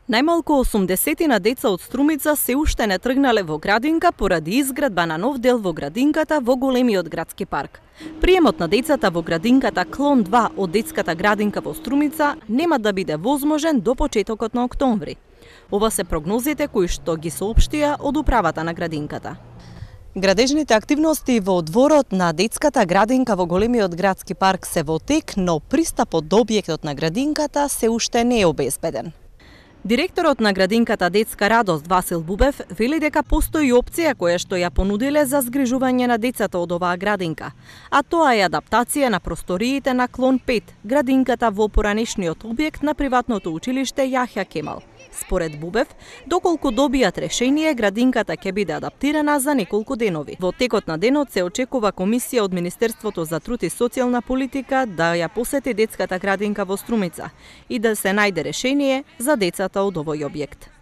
Најмалку 80 деца од Струмица се уште не тргнале во градинка поради изградба на нов дел во градинката во големиот градски парк. Приемот на децата во градинката Клон 2 од детската градинка во Струмица нема да биде возможен до почетокот на октомври. Ова се прогнозите кои што ги соопштија од управата на градинката. Градежните активности во дворот на детската градинка во големиот градски парк се во тек, но пристапот до објектот на градинката се уште не е обезбеден. Директорот на градинката Детска радост Васил Бубев вели дека постои опција која што ја понудиле за згрижување на децата од оваа градинка, а тоа е адаптација на просториите на Клон 5, градинката во поранешниот објект на приватното училиште Јахја Кемал. Според Бубев, доколку добијат решение, градинката ќе биде адаптирана за неколку денови. Во текот на денот се очекува комисија од Министерството за труд и социјална политика да ја посети детската градинка во Струмица и да се најде решение за децата од овој објект.